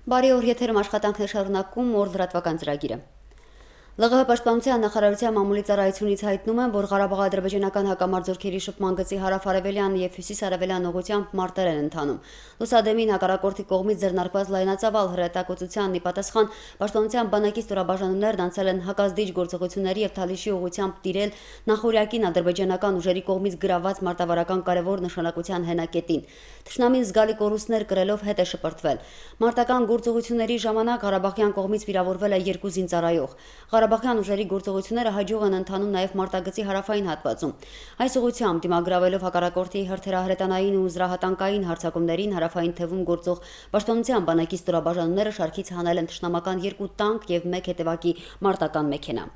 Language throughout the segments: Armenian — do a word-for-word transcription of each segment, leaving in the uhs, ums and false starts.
Բարի օր, եթերում աշխատանքն է շարունակում օր լրատվական ծրագիրը։ ԼՂՀ պաշտպանության նախարարության մամուլի ծառայությունից հայտնում են, որ Ղարաբաղ-ադրբեջանական հակամարտությունների շփման գծի հարավ-արևելյան եւ հյուսիս-արևելյան ուղղությամբ մարտեր են ընթանում։ Լուսադեմին հակառակորդի կողմից ձեռնարկված լայնածավալ հրետակոծությանն ի պատասխան պաշտպանության բանակի ստորաբաժանումներն անցել են հակազդիչ գործողությունների եւ Թալիշի ուղղությամբ տիրել նախօրյակին ադրբեջանական ուժերի կողմից գրաված մարտավարական կարևոր նշանակության հենակետին։ Թշնամին զգալի կորուստներ կրելով հետ է շպրտվել։ Մարտական գործողությունների ժամանակ Ղարաբաղյան կողմից վիրավորվել է երկու զինծառայող։ Ղարաբաղյան ուժերի գործողությունները հաջող են ընթանում նաև մարտագծի հարավային հատվածում։ Այս ուղղությամբ դիմագրավելով հակառակորդի հրթիռահրետանային ու զրահատանկային հարձակումներին հարավային թևում գործող պաշտպանության բանակի ստորաբաժանումները շարքից հանել են թշնամական երկու տանկ եւ մեկ հետևակի մարտական մեքենա։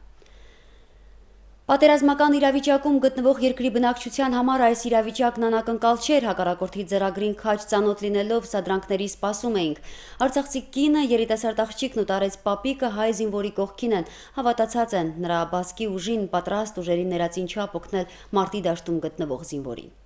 Պատերազմական իրավիճակում գտնվող երկրի բնակչության համար այս իրավիճակն անակնկալ չէր, հակառակորդի ձեռագրին քաջ ծանոթ լինելով սադրանքների սպասում էինք։ Արցախցի կինը, երիտասարդ աղջիկն ու տարեց պապիկը հայ զինվորի կողքին են, հավատացած են նրա բասկի ուժին, պատրաստ ուժերի ներածին չափ օգնել մարտի դաշտում գտնվող զինվորին։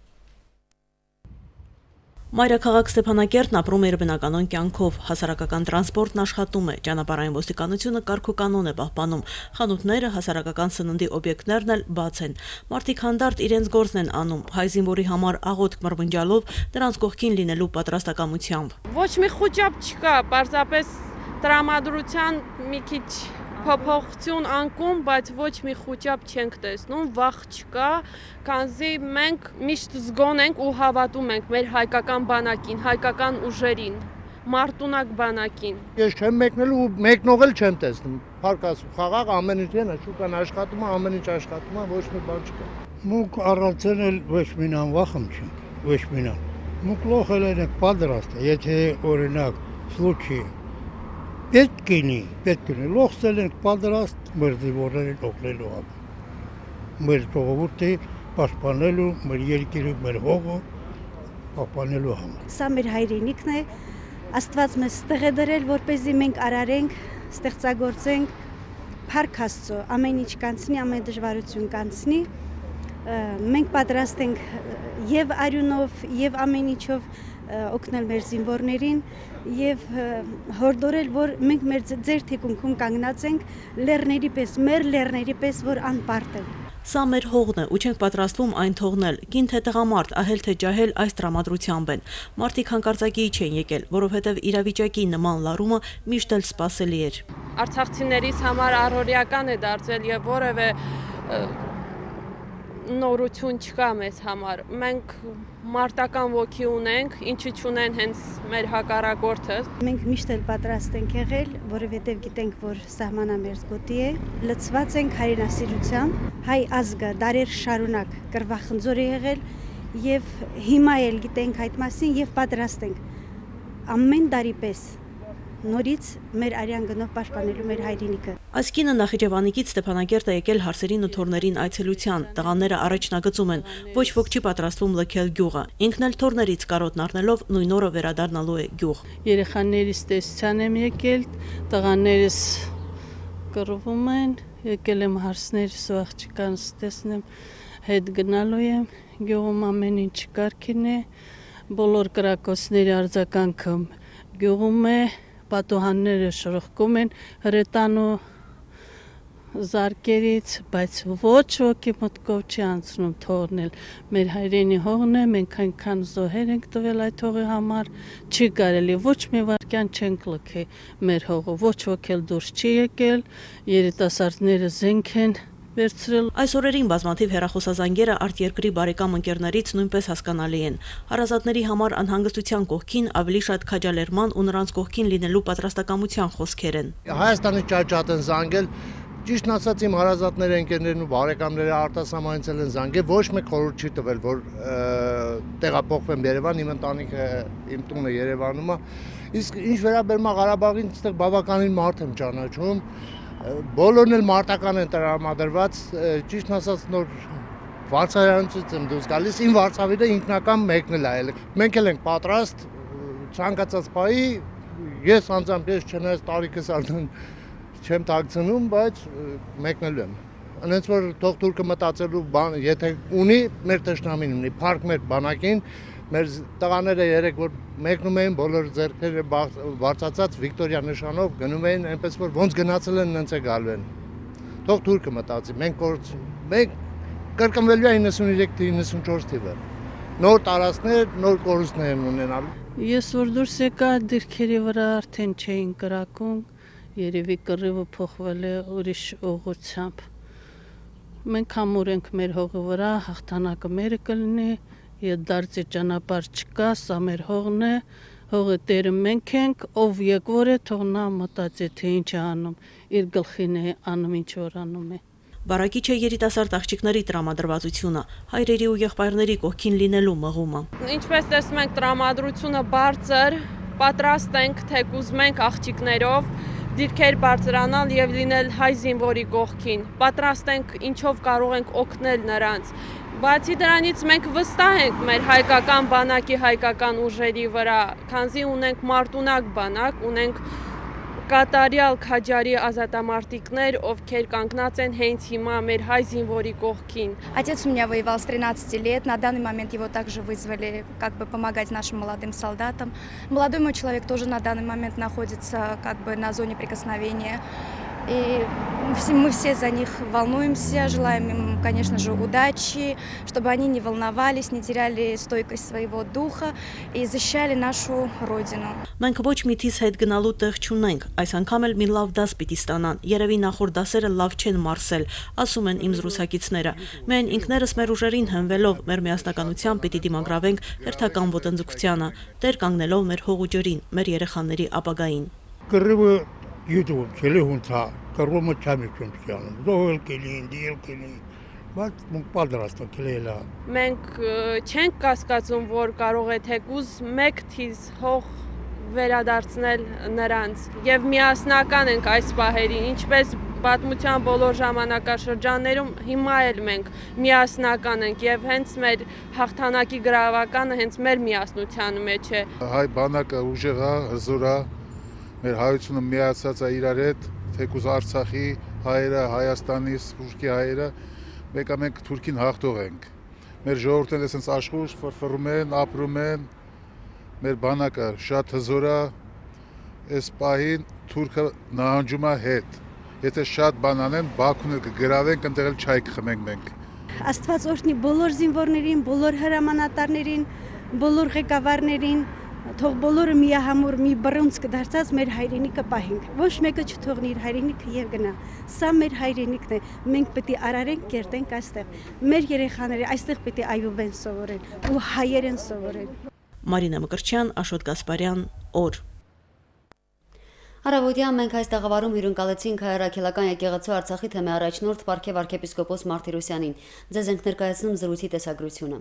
Մայրաքաղաք Ստեփանակերտն ապրում է իր բնականոն կյանքով, հասարակական տրանսպորտն աշխատում է, ճանապարհային ոստիկանությունը կարգ ու կանոն է պահպանում, խանութները, հասարակական սննդի օբյեկտներն էլ բաց են։ Մարդիկ հանդարտ իրենց գործն են անում, հայ զինվորի համար աղոթք մրմնջալով նրանց կողքին լինելու պատրաստակամությամբ։ Ոչ մի խոճապ չկա, պարզապես տրամադրության մի քիչ փոփոխություն անկում, բայց ոչ մի խոճապ չենք տեսնում, վախ չկա, քանզի մենք միշտ զգոն ենք ու հավատում ենք մեր հայկական բանակին, հայկական ուժերին, մարտունակ բանակին։ Ես չեմ մեկնել ու մեկնողել չեմ տեսնում։ Փառք խաղաղ ամեն ինչ են, շուկան աշխատում է, ամեն ինչ աշխատում է, ոչ մի բան չկա։ Մուկ առանցել էլ ոչ մինան վախում չենք, ոչ մինան։ Մուկ լոխել ենք պատրաստ, եթե օրինակ случай պետք կինի, պետք կինի, լոխցել ենք պատրաստ մեր զինվորներին օգնելու համար։ Մեր ժողովուրդը պաշտպանելու, մեր երկիրը, մեր հողը պահպանելու համար։ Սա մեր հայրենիքն է, Աստված մեզ տեղ է դրել, որպեսզի մենք արարենք, ստեղծագործենք, փառք Աստծո, ամեն ինչ կանցնի, ամեն դժվարություն կանցնի։ Մենք պատրաստ ենք եւ արյունով, եւ ամեն ինչով օգնել մեր զինվորներին եւ հորդորել, որ մենք մեր ձեր թիկունքում կանգնած ենք լեռների պես, մեր լեռների պես, որ անպարտ են։ Սա մեր հողն է ու չենք պատրաստվում այն թողնել։ Կին թե տղամարդ, ահել թե ջահել այս տրամադրությամբ են։ Մարդիկ հանկարծակիի չեն եկել, որովհետև իրավիճակի նման լարումը միշտ էլ սպասելի էր։ Արցախցիներից համար առօրյական է դարձել եւ որևէ նորություն չկա մեզ համար։ Մենք մարտական ոգի ունենք, ինչի չունեն հենց մեր հակառակորդը։ Մենք միշտ էլ պատրաստ ենք եղել, որովհետև գիտենք, որ սահմանը մեր գոտի է, լցված ենք հայրենասիրությամբ, հայ ազգը դարեր շարունակ կռվախնձոր է եղել եւ հիմա էլ գիտենք այդ մասին եւ պատրաստ ենք ամեն տարի պես նորից մեր արյան գնով պաշտպանելու մեր հայրենիքը։ Այս կինը Նախիջևանիկից Ստեփանակերտ է եկել հարսերին ու թորներին այցելության, տղաները առաջնագծում են, ոչ ոք չի պատրաստվում լքել գյուղը։ Ինքն էլ թորներից կարոտն առնելով նույն օրը վերադառնալու է գյուղ։ Երեխաներիս տեսության եմ եկել, տղաներս կռվում են, եկել եմ հարսներս ու աղջկանց տեսնեմ, հետ գնալու եմ, գյուղում ամեն ինչ կարգին է, բոլոր կրակոցների արձագանքը գյուղում է, պատուհանները շրխկում են հրետանու զարկերից, բայց ոչ ոքի մտքով չի անցնում թողնել։ Մեր հայրենի հողն է, մենք այնքան զոհեր ենք տվել այդ հողի համար, չի կարելի, ոչ մի վայրկյան չենք լքի մեր հողը, ոչ ոք էլ դուրս չի եկել, երիտասարդները զենք են վերցրել։ Այս օրերին բազմաթիվ հեռախոսազանգերը արտերկրի բարեկամ ընկերներից նույնպես հասկանալի են։ Հարազատների համար անհանգստության կողքին ավելի շատ քաջալերման ու նրանց կողքին լինելու պատրաստակամության խոսքեր են։ Հայաստանի ճաճատ են զանգել, ճիշտ ասած իմ հարազատները, ընկերներն ու բարեկամները արտասահմանից են զանգել, ոչ մեկ խորհուրդ չի տվել, որ տեղափոխվեմ Երևան, իմ ընտանիքը, իմ տունը Երևանում է։ Իսկ ինչ վերաբերում է Ղարաբաղին, այստեղ բավականին մարդ եմ ճանաչում։ Բոլորն էլ մարտական են տրամադրված, ճիշտ ասած նոր վարչարանից եմ դուրս գալիս, իմ վարչավիրը ինքնական մեկն էլ այլ։ Մենք էլ ենք պատրաստ ցանկացած բայի, ես անձամբ ես չնայած տարիքս արդեն չեմ տակցնում, բայց մեկնելու եմ։ Անենց որ թող թուրքը մտածելու բան, եթե ունի, մեր թշնամին ունի, փառք մեր բանակին, Մեր տղաները երեք որ մեկնում էին բոլոր ձեռքերը բարձացած Վիկտորիա նշանով գնում էին այնպես որ ոնց գնացել են նենց է գալու են։ Թող թուրքը մտածի, մենք մենք կրկնվելու է իննսուներեք իննսունչորս թիվը։ Նոր տարածքներ, նոր կորուստներ են ունենալու։ Ես որ դուրս եկա դիրքերի վրա արդեն չէին կրակում, երևի կռիվը փոխվել է ուրիշ ուղղությամբ։ Մենք համուր ենք մեր հողի վրա, հաղթանակը մերը կլինի, ետ դարձի ճանապարհ չկա, սա մեր հողն է, հողը տերը մենք ենք, ով եկվոր է, թող նա մտածի, թե ինչ է անում, իր գլխին է անում, ինչ որ անում է։ Բարակիչ է երիտասարդ աղջիկների տրամադրվածությունը, հայրերի ու եղբայրների կողքին լինելու մղումը։ Ինչպես տեսնում ենք, տրամադրությունը բարձր, պատրաստ ենք թեկուզ մենք աղջիկներով դիրքեր բարձրանալ եւ լինել հայ զինվորի կողքին։ Պատրաստ ենք ինչով կարող ենք օգնել նրանց։ Բացի դրանից մենք վստահ ենք մեր հայկական բանակի հայկական ուժերի вրա, քանզի ունենք մարտունակ բանակ, ունենք կատարյալ քաջարի ազատամարտիկներ, ովքեր կանգնած են հենց հիմա մեր հայ զինվորի կողքին։ Отец у меня воевал с тринадцати лет, на данный момент его также вызвали как бы помогать нашим молодым солдатам. Молодой мой человек тоже на данный момент находится как бы на зоне прикосновения. И мы все за них волнуемся, желаем им, конечно же, удачи, чтобы они не волновались, не теряли стойкость своего духа и защищали нашу родину. Մենք ոչ միտից հետ գնալու տեղ չունենք, այս անգամ էլ մի լավ դաս պիտի ստանան, երևի նախորդ դասերը լավ չեն մարսել, ասում են իմ զրուցակիցները։ Մենք ինքներս մեր ուժերին հենվելով մեր միասնականությամբ պիտի դիմագրավենք հերթական ոտնձգությանը, տեր կանգնելով մեր հող ու ջրին, մեր երեխաների ապագային։ Կռիվը YouTube չելի հունցա, կռումը չամիքում չանում, զոհել կելին, դիել կելին, բայց մենք պատրաստը կելելա։ Մենք չենք կասկածում, որ կարող է թեկուզ մեկ թիզ հող վերադարձնել նրանց եւ միասնական ենք այս պահերին, ինչպես պատմության բոլոր ժամանակաշրջաններում հիմա էլ մենք միասնական ենք եւ հենց մեր հաղթանակի գրավականը հենց մեր միասնության մեջ է։ Հայ բանակը ուժեղ է, հզոր է, մեր հայությունը միացած է իրար հետ, թեկուզ Արցախի հայերը, Հայաստանի, Սփյուռքի հայերը, մեկը մենք Թուրքին հաղթող ենք։ Մեր ժողովուրդները այսպես աշխուժ ֆրֆռում են, ապրում են, մեր բանակը շատ հզոր է, այս պահին Թուրքը նահանջում է հետ։ Եթե շատ բան անեն, Բաքուն էլ կգրավենք, այնտեղ էլ չայ կխմենք մենք։ Աստված օրհնի բոլոր զինվորներին, բոլոր հրամանատարներին, բոլոր ղեկավարներին, թող բոլորը միահամուռ մի բռունց կդարձած մեր հայրենիքը պահենք։ Ոչ մեկը չթողնի իր հայրենիքը եւ գնա։ Սա մեր հայրենիքն է։ Մենք պետք է արարենք, կերտենք այստեղ։ Մեր երեխաները այստեղ պետք է այբուբեն սովորեն ու հայերեն սովորեն։ Մարինա Մկրտչյան, Աշոտ Գասպարյան, օր։ Առավոտյան մենք այս տաղավարում հյուրընկալեցինք հայրաքելական եկեղեցու Արցախի թեմի առաջնորդ Պարքև arczepiskopos Մարտիրոսյանին։ Ձեզ ենք ներկայացնում զրույցի տեսագրությունը։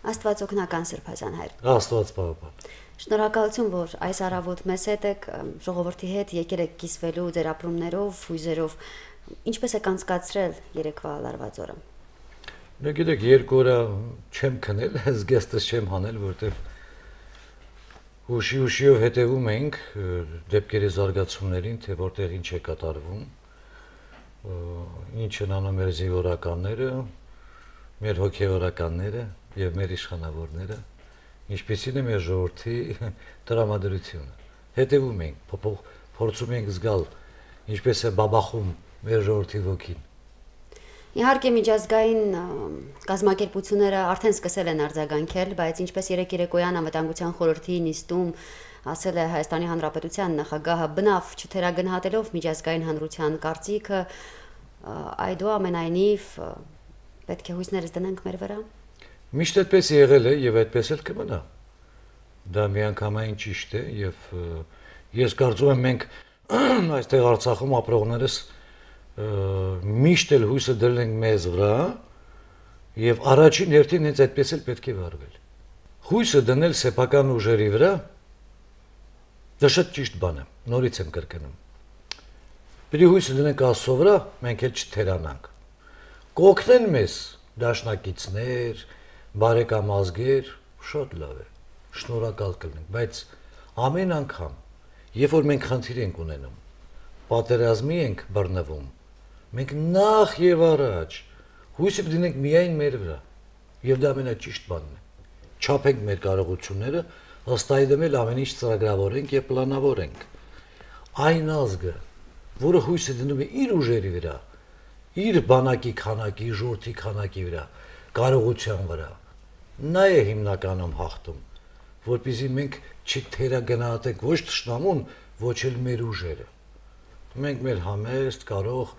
Աստված օգնական Սրբազան հայր։ Աստված պահապան։ Շնորհակալություն, որ այս առավոտ մեզ հետ եք, ժողովրդի հետ եկել եք կիսվելու ձեր ապրումներով, հույզերով։ Ինչպես եք անցկացրել երեկվա լարված օրը։ Դե գիտեք, երկու օր չեմ քնել, զգեստս չեմ հանել, որտեվ հուշի հուշիով հետևում ենք դեպքերի զարգացումներին, թե որտեղ ինչ է կատարվում, ինչ են անում մեր զինվորականները, մեր հոգևորականները եւ մեր իշխանավորները, ինչպեսին է մեր ժողովրդի տրամադրությունը։ Հետևում ենք, փորձում ենք զգալ ինչպես է բաբախում մեր ժողովրդի ոգին։ Իհարկե միջազգային կազմակերպությունները արդեն սկսել են արձագանքել, բայց ինչպես երեկ երեկոյան անվտանգության խորհրդի նիստում ասել է Հայաստանի Հանրապետության նախագահը բնավ չթերագնահատելով միջազգային հանրության կարծիքը, այդուամենայնիվ պետք է հույսներս դնենք մեր վրա։ Միշտ այդպես եղել է եւ այդպես էլ կմնա։ Դա միանգամայն ճիշտ է եւ ես կարծում եմ մենք այստեղ Արցախում ապրողներս միշտ էլ հույսը դրել ենք մեզ վրա եւ առաջին հերթին հենց այդպես էլ պետք է վարվել։ Հույսը դնել սեփական ուժերի վրա դա շատ ճիշտ բան է, նորից եմ կրկնում։ Պետք է հույսը դնենք Աստծո վրա, մենք էլ չթերանանք։ Կօգնեն մեզ դաշնակիցներ, բարեկամազգեր, շատ լավ է, շնորհակալ կլինենք, բայց ամեն անգամ, երբ որ մենք խնդիր ենք ունենում, պատերազմի ենք բռնվում, Մենք նախ եւ առաջ հույսը դինենք միայն մեր վրա։ Եվ դա ամենաճիշտ բանն է։ Չափենք մեր կարողությունները, ըստ այդմ էլ ամեն ինչ ծրագրավորենք եւ պլանավորենք։ Այն ազգը, որը հույսը դնում է իր ուժերի վրա, իր բանակի քանակի, ժողովրդի քանակի վրա, կարողության վրա, նա է հիմնականում հաղթում, որպեսզի մենք չթերագնահատենք ոչ թշնամուն, ոչ էլ մեր ուժերը։ Մենք մեր համեստ, կարող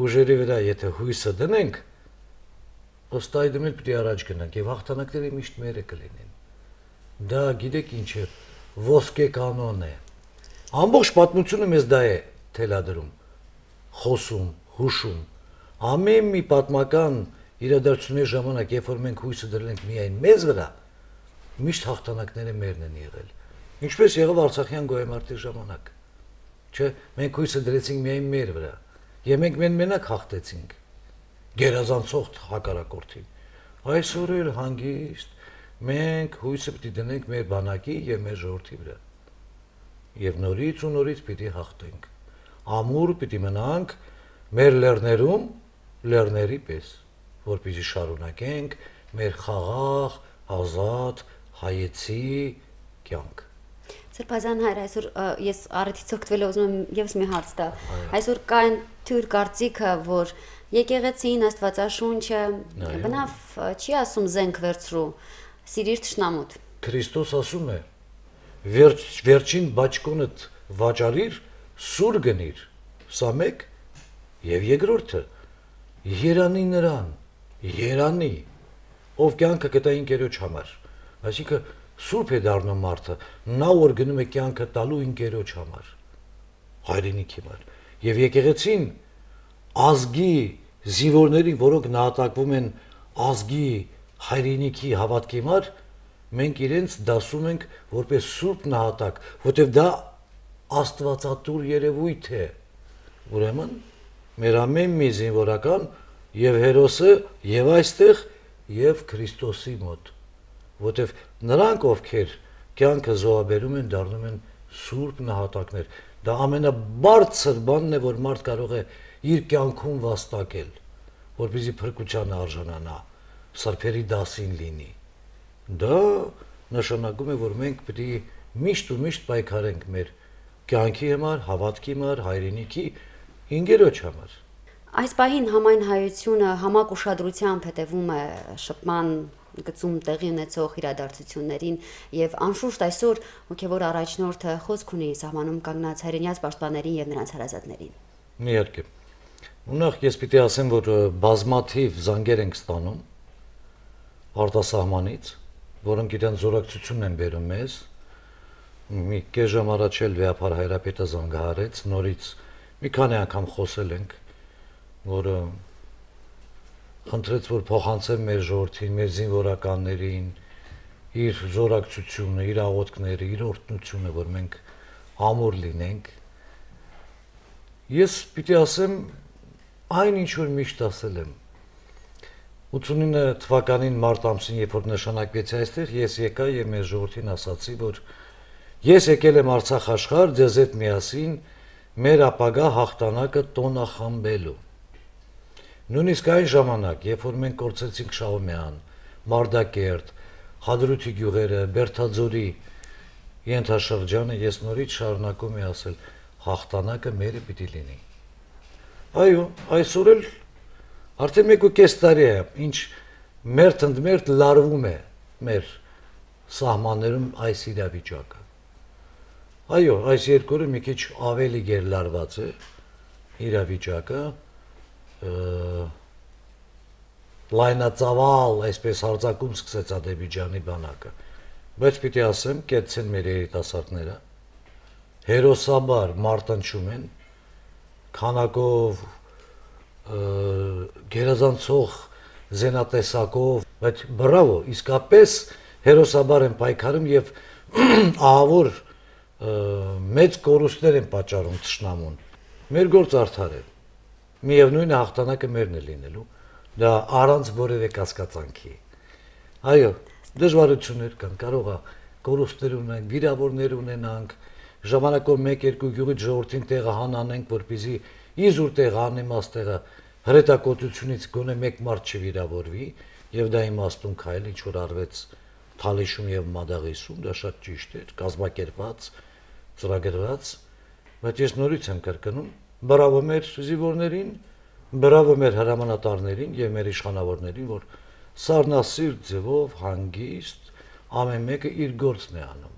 ուժերի վրա, եթե հույսը դնենք, ըստ այդմ էլ պիտի առաջ գնանք եւ հաղթանակները միշտ մերը կլինեն։ Դա գիտեք ինչ է, ոսկե կանոն է։ Ամբողջ պատմությունը մեզ դա է թելադրում, խոսում, հուշում։ Ամեն մի պատմական իրադարձությունների ժամանակ, երբ որ մենք հույսը դրել ենք միայն մեզ վրա, միշտ հաղթանակները մերն են եղել։ Ինչպես եղավ Արցախյան գոյամարտի ժամանակ։ Չէ, մենք հույսը դրեցինք միայն մեր վրա, եւ մենք մենակ հաղթեցինք։ Գերազանցող հակառակորդին։ Այսօր էլ հանգիստ մենք հույսը պիտի դնենք մեր բանակի եւ մեր ժողովրդի վրա։ Եվ նորից ու նորից պիտի հաղթենք։ Ամուր պիտի մնանք մեր լեռներում, լեռների պես, որպեսզի շարունակենք մեր խաղաղ, ազատ, հայեցի կյանք։ Սրբազան հայր, այսօր ես առիթից օգտվելով ուզում եմ եւս մի հարց տալ։ Այսօր կա այն թյուր կարծիքը, որ եկեղեցին, Աստվածաշունչը բնավ չի ասում զենք վերցրու, սիրիր թշնամուդ։ Քրիստոս ասում է. վերջ, վերջին բաճկոնդ վաճառիր, սուր գնիր։ Սա մեկ եւ երկրորդը երանի նրան, երանի, ով կյանքը կտա ինքերոջ համար։ Այսինքն սուրբ է դառնում մարդը, նա որ գնում է կյանքը տալու ինքերոջ համար, հայրենիքի համար։ Եվ եկեղեցին ազգի զինվորներին, որոնք նահատակվում են ազգի հայրենիքի հավատքի համար, մենք իրենց դասում ենք որպես սուրբ նահատակ, որտեղ դա աստվածատուր երևույթ է։ Ուրեմն մեր ամեն մի զինվորական եւ հերոսը եւ այստեղ եւ Քրիստոսի մոտ, որտեղ նրանք ովքեր կյանքը զոհաբերում են, դառնում են սուրբ նահատակներ։ Դա ամենաբարձր բանն է, որ մարդ կարող է իր կյանքում վաստակել, որպեսզի փրկության արժանանա, սրբերի դասին լինի։ Դա նշանակում է, որ մենք պետք է միշտ ու միշտ պայքարենք մեր կյանքի համար, հավատքի համար, հայրենիքի, ինգերոջ համար։ Այս պահին համայն հայությունը համակ ուշադրությամբ հետևում է շփման գծում տեղի ունեցող իրադարձություններին եւ անշուշտ այսօր հոգեվոր առաջնորդը խոսք ունի սահմանում կանգնած հայրենիաց պաշտպաններին եւ նրանց հարազատներին։ Իհարկե։ Ունախ ես պիտի ասեմ, որ բազմաթիվ զանգեր ենք ստանում արտասահմանից, որոնք իրենց զորակցությունն են բերում մեզ։ Մի կես ժամ առաջ էլ Վեհապար Հայրապետը զանգահարեց, նորից մի քանի անգամ խոսել ենք, որը խնդրեց, որ փոխանցեմ մեր ժողովրդին, մեր զինվորականներին իր զորակցությունը, իր աղոթքները, իր օրհնությունը, որ մենք ամուր լինենք։ Ես պիտի ասեմ այն ինչ որ միշտ ասել եմ։ ութսունինը թվականին մարտ ամսին, երբ որ նշանակվեցի այստեղ, ես եկա եւ մեր ժողովրդին ասացի, որ ես եկել եմ Արցախ աշխարհ ձեզ հետ միասին մեր ապագա հաղթանակը տոնախմբելու։ Նույնիսկ այն ժամանակ, երբ որ մենք կորցրեցինք Շահումյան, Մարդակերտ, Հադրութի գյուղերը, Բերթաձորի ենթաշրջանը, ես նորից շարունակում եմ ասել, հաղթանակը մերը պիտի լինի։ Այո, այսօր էլ արդեն մեկ ու կես տարի է, ինչ մերթ ընդմերթ լարվում է մեր սահմաններում այս իրավիճակը։ Այո, այս երկու օրը մի քիչ ավելի գերլարված է իրավիճակը, լայնածավալ, այսպես հարձակում սկսեց Ադրբեջանի բանակը, բայց պիտի ասեմ, կեցցեն մեր երիտասարդները, հերոսաբար մարտնչում են, քանակով, գերազանցող զենատեսակով, բայց բրավո, իսկապես հերոսաբար են պայքարում եւ ահավոր մեծ կորուստներ են պատճառում թշնամուն։ Մեր գործ արդար է։ Միևնույն հաղթանակը մերն է լինելու, դա առանց որևէ կասկածանքի։ Այո, դժվարություններ կան, կարող է կորուստներ ունենանք, վիրավորներ ունենանք, ժամանակով մեկ-երկու գյուղից ժողովրդին տեղը հանանենք, որպեսզի իզուր տեղ անիմաստ տեղը հրետակոծությունից գոնե մեկ մարդ չվիրավորվի, եւ դա իմաստուն քայլ ինչ որ արվեց Թալիշում եւ Մադաղիսում, դա շատ ճիշտ էր, կազմակերպված, ծրագրված, բայց ես նորից եմ կրկնում, բրավո մեր զինվորներին, բրավո մեր հրամանատարներին եւ մեր իշխանավորներին, որ սառնասիրտ ձևով հանգիստ ամեն մեկը իր գործն է անում։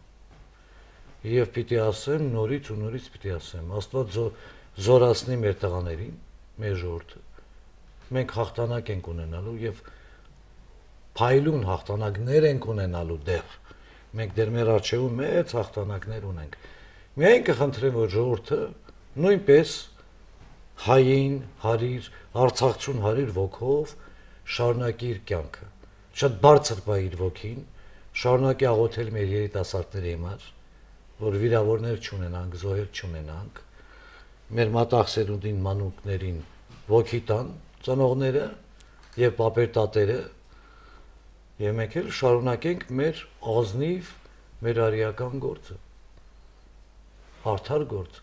Եվ պիտի ասեմ, նորից ու նորից պիտի ասեմ, Աստված զորացնի մեր տղաներին, մեր ժողովուրդը։ Մենք հաղթանակ ենք ունենալու եւ փայլուն հաղթանակներ ենք ունենալու դեռ։ Մենք դեռ մեր առջևում մեծ հաղթանակներ ունենք։ Միայն կխնդրեմ, որ ժողովուրդը նույնպես հային, հարիր, արցախցուն հարիր ոգով շարունակի իր կյանքը։ Շատ բարձր պա իր ոգին, շարունակի աղոթել մեր երիտասարդների համար, որ վիրավորներ չունենանք, զոհեր չունենանք, մեր մատաղ մանուկներին ոգի տան ծնողները եւ պապեր-տատերը, եւ մենք էլ շարունակենք մեր ազնիվ, մեր արիական գործը, արդար գործ,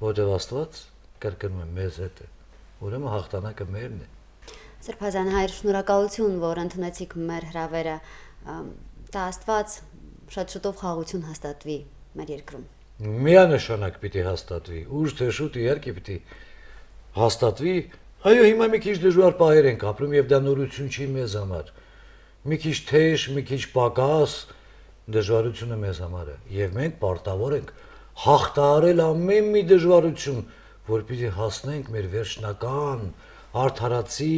որտեղ Աստված կրկնում եմ մեզ հետ է, ուրեմն հաղթանակը մերն է։ Սրբազան հայր, շնորհակալություն, որ ընդունեցիք մեր հրավերը, դա Աստված շատ շուտով խաղաղություն հաստատվի մեր երկրում։ Միանշանակ պիտի հաստատվի, ուշ թե շուտ իհարկե պիտի հաստատվի, այո, հիմա մի քիչ դժվար պահեր ենք ապրում եւ դա նորություն չի մեզ համար։ Մի քիչ թեժ, մի քիչ պակաս դժվարությունը մեզ համար է եւ մենք պարտավոր ենք հաղթահարել ամեն մի դժվարություն, որպեսզի հասնենք մեր վերջնական արդարացի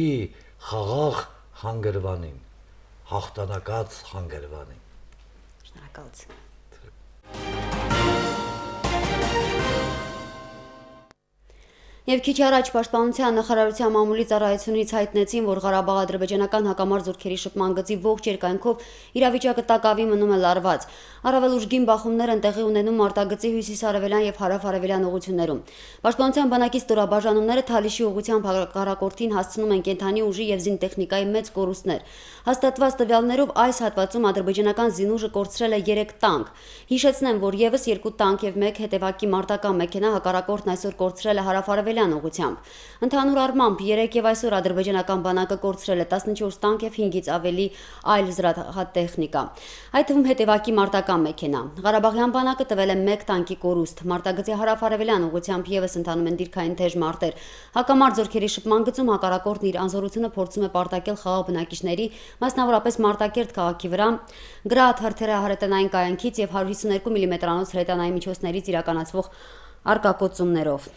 խաղաղ հանգրվանին, հաղթանակած հանգրվանին։ Շնորհակալություն։ Եվ քիչ առաջ Պաշտպանության նախարարության մամուլի ծառայությունից հայտնեցին, որ Ղարաբաղ-ադրբեջանական հակամարտ զորքերի շփման գծի ողջ երկայնքով իրավիճակը տակավի մնում է լարված։ Առավել ուժգին բախումներ են տեղի ունենում արտագծի հյուսիս-արևելյան եւ հարավ-արևելյան ուղություններում։ Պաշտպանության բանակի ստորաբաժանումները Թալիշի ուղղությամբ հակառակորդին հասցնում են կենթանի ուժի եւ զինտեխնիկայի մեծ կորուստներ։ Հաստատված տվյալներով այս հատվածում ադրբեջանական զինուժը կորցրել է երեք տանկ։ Հիշեցնեմ, որ եւս երկու տանկ եւ մեկ հետևակի մարտական մեքենա հակառակորդն այսօր կորցրել է հարավ-արևելյան ուղղությամբ։ Ընդհանուր առմամբ երեք եւ այսօր ադրբեջանական բանակը կորցրել է տասնչորս տանկ եւ հինգից ավելի այլ զրահատեխնիկա, այդ թվում հետևակի մարտական մեքենա։ Ղարաբաղյան բանակը տվել է մեկ տանկի կորուստ։ Մարտագծի հարավ-արևելյան ուղղությամբ եւս ընթանում են դիրքային թեժ մարտեր։ Հակամարտ զորքերի շփման գծում հակառակորդն իր անզորությունը փորձում է պարտակել խաղաղ բնակիչների, մասնավորապես Մարտակերտ քաղաքի վրա, Գրադ հրթիռահրետանային կայանքից եւ հարյուր հիսունեքու միլիմետրանոց հրետանային միջոցներից իրականացվող արկակոծումներով։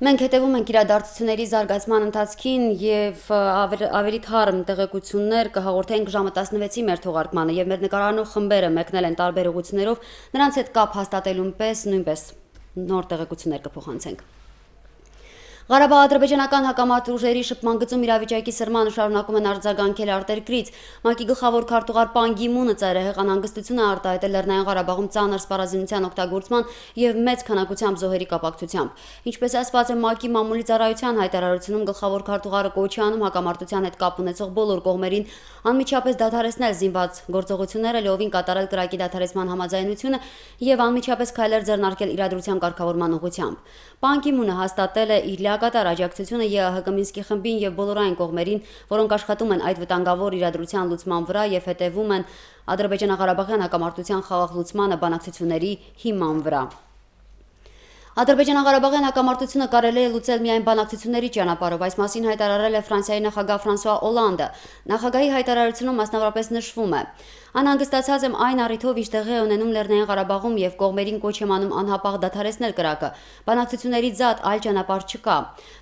Մենք հետևում ենք իրադարձությունների զարգացման ընթացքին եւ ավելի թարմ տեղեկություններ կհաղորդենք ժամը տասնվեցի մեր թողարկմանը եւ մեր նկարանող խմբերը մեկնել են տարբեր ուղություններով, նրանց հետ կապ հաստատելուն պես նույնպես նոր տեղեկություններ կփոխանցենք։ Ղարաբաղ-ադրբեջանական հակամարտ ուժերի շփման գծում իրավիճակի սրմանը շարունակում են արձագանքել արտերկրից։ ՄԱԿ-ի գլխավոր քարտուղար Պան Գի Մունը ծայրահեղ անհանգստություն է արտահայտել Լեռնային Ղարաբաղում ծանր սպառազինության օգտագործման եւ մեծ քանակությամբ զոհերի կապակցությամբ։ Ինչպես ասված է ՄԱԿ-ի մամուլի ծառայության հայտարարությունում, գլխավոր քարտուղարը կոչ է անում հակամարտության հետ կապ ունեցող բոլոր կողմերին անմիջապես դադարեցնել զինված գործողությունները, լիովին կատարել կրակի դադարեցման համաձայնությունը եւ անմիջապես քայլեր ձեռնարկել իրադրության կարգավորման ուղղությամբ։ Պան Գի Մունը հաստատել է իր կատար աջակցությունը ԵԱՀԿ Մինսկի խմբին եւ բոլոր այն կողմերին, որոնք աշխատում են այդ վտանգավոր իրադրության լուծման վրա եւ հետեւում են Ադրբեջանա-Ղարաբաղյան հակամարտության խաղաղ լուծմանը բանակցությունների հիման վրա։ Ադրբեջանա-Ղարաբաղյան հակամարտությունը կարելի է լուծել միայն բանակցությունների ճանապարհով, այս մասին հայտարարել է Ֆրանսիայի նախագահ Ֆրանսուଆ Օլանդը։ Նախագահի հայտարարությունում մասնավորապես նշվում է. Անհանգստացած եմ այն առիթով, ինչ տեղի է ունենում Լեռնային Ղարաբաղում եւ կողմերին կոչ եմ անում անհապաղ դադարեցնել կրակը։ Բանակցությունների զատ այլ ճանապարհ չկա։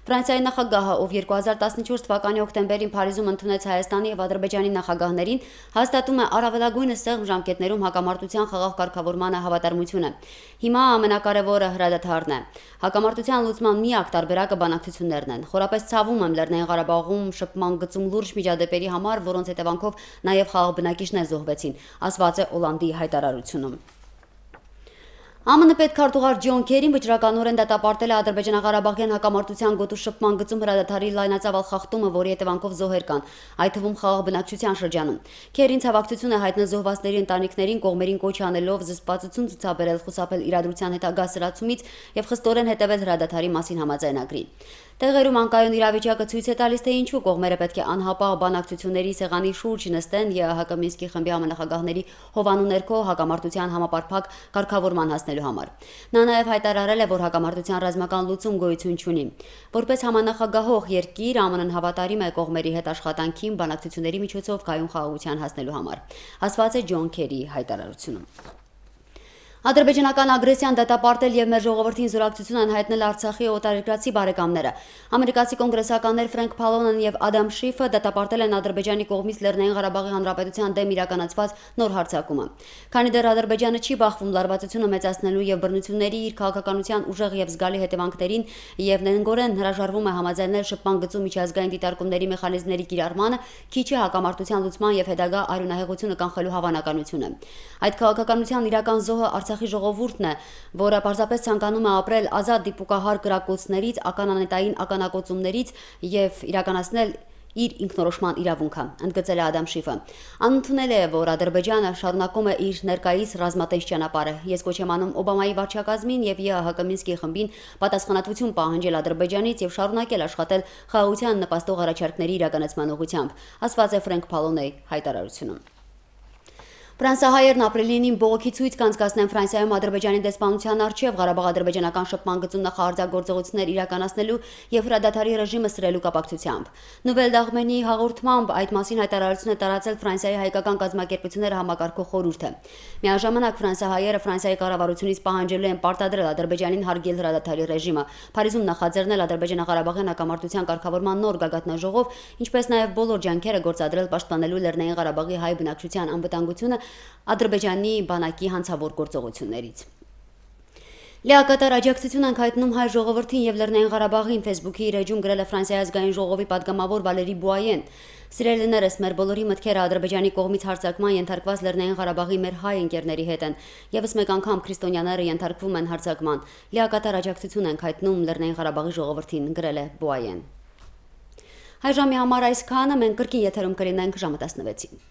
Ֆրանսիայի նախագահը, ով երկու հազար տասնչորս թվականի հոկտեմբերին Փարիզում ընդունեց Հայաստանի եւ Ադրբեջանի նախագահներին, հաստատում է առավելագույնս սեղմ ժամկետներում հակամարտության խաղաղ կարգավորմանը հավատարմությունը։ Հիմա ամենակարևորը հրադադարն է։ Հակամարտության լուծման միակ տարբերակը բանակցություններն են։ Խորապես ցավում եմ Լեռնային Ղարաբաղում շփման գծում լուրջ միջադեպերի համար, որոնց հետևանքով նաեւ խաղաղ բնակիչներ զոհվեցին, ասված է Օլանդի հայտարարությունում։ Ա Մ Ն պետքարտուղար Ջոն Քերին վճռականորեն դատապարտել է Ադրբեջանա-Ղարաբաղյան հակամարտության գոտու շփման գծում հրադադարի լայնածավալ խախտումը, որի հետևանքով զոհեր կան, այդ թվում խաղաղ բնակչության շրջանում։ Քերին ցավակցություն է հայտնել զոհվածների ընտանիքներին, կողմերին կոչ անելով զսպվածություն ցուցաբերել, խուսափել իրադրության հետագա սրացումից եւ խստորեն հետևել հրադադարի մասին համաձայնագրին։ Տեղերում անկայուն իրավիճակը ցույց է տալիս, թե ինչու կողմերը պետք է անհապաղ բանակցությունների սեղանի շուրջ նստեն ԵԱՀԿ Մինսկի խմբի համանախագահների հովանու ներքո հակամարտության համապարփակ կարգավորման հասնելու համար։ Նա նաև հայտարարել է, որ հակամարտության ռազմական լուծում գոյություն չունի։ Որպես համանախագահող երկիր, Ա Մ Ն-ն հավատարիմ է կողմերի հետ աշխատանքին բանակցությունների միջոցով կայուն խաղաղության հասնելու համար, ասված է Ջոն Քերիի հայտարարությունում։ Ադրբեջանական ագրեսիան դատապարտել եւ մեր ժողովրդին զորակցություն են հայտնել Արցախի օտարերկրացի բարեկամները։ Ամերիկացի կոնգրեսականներ Ֆրենկ Փալոնն եւ Ադամ Շիֆը դատապարտել են Ադրբեջանի կողմից Լեռնային Ղարաբաղի Հանրապետության դեմ իրականացված նոր հարձակումը։ Քանի դեռ Ադրբեջանը չի բախվում լարվածությունը մեծացնելու եւ բռնությունների իր քաղաքականության ուժեղ եւ զգալի հետևանքներին եւ նենգորեն հրաժարվում է համաձայնել շփման գծում միջազգային դիտարկումների մեխանիզմների կիրառմանը, քիչ է հակամարտության լուծման եւ հետագա արյունահեղությունը կանխելու հավանականությունը։ Այդ քաղաքականության իրական զոհը Արցախի ժողովուրդն է, որը պարզապես ցանկանում է ապրել ազատ դիպուկահար կրակոցներից, ականանետային ականակոծումներից եւ իրականացնել իր ինքնորոշման իրավունքը, ընդգծել է Ադամ Շիֆը։ Անընդունել է, որ Ադրբեջանը շարունակում է իր ներկայիս ռազմատենչ ճանապարհը։ Ես կոչ եմ անում Օբամայի վարչակազմին եւ ԵԱՀԿ Մինսկի խմբին պատասխանատվություն պահանջել Ադրբեջանից եւ շարունակել աշխատել խաղաղության նպաստող առաջարկների իրականացման ուղղությամբ, ասված է Ֆրենկ Փալոնեի հայտարարությունում։ Ֆրանսահայերն ապրիլին բողոքի ցույց կանցկացնեն Ֆրանսիայում Ադրբեջանի դեսպանության առջև Ղարաբաղ-ադրբեջանական շփման գծում նախահարձակորձողություններ իրականացնելու եւ հրադադարի ռեժիմը սրելու կապակցությամբ։ Նուվել Դաղմենի հաղորդմամբ այդ մասին հայտարարություն է տարածել Ֆրանսիայի հայկական կազմակերպությունները համակարգող խորհուրդը։ Միաժամանակ ֆրանսահայերը Ֆրանսիայի կառավարությունից պահանջելու են պարտադրել Ադրբեջանին հարգել հրադադարի ռեժիմը, Փարիզում նախաձեռնել Ադրբեջանա-Ղարաբաղյան հակամարտության կարգավորման նոր գագաթնաժողով, ինչպես նաեւ բոլոր ջանքերը գործադրել պաշտպանելու Լեռնային Ղարաբաղի հայ բնակչության անվտանգությունը Ադրբեջանի բանակի հանցավոր գործողություններից։ Լիակատար աջակցություն ենք հայտնում հայ ժողովրդին եւ Լեռնային Ղարաբաղին, Facebook-ի իր էջում գրել է Ֆրանսիայի ազգային ժողովի падգամավոր Վալերի Բուայեն։ Սիրելիներս, մեր բոլորի մտքերը Ադրբեջանի կողմից հարձակման ենթարկված Լեռնային Ղարաբաղի մեր հայ ընկերների հետ են։ Եվս մեկ անգամ քրիստոնյաները ենթարկվում են հարձակման։ Լիակատար աջակցություն ենք հայտնում Լեռնային Ղարաբաղի ժողովրդին, գրել է Բուայեն։ Հայ ժամի համար այսքանը, մենք կրկին եթերում կլինենք ժամը տասնվեցին։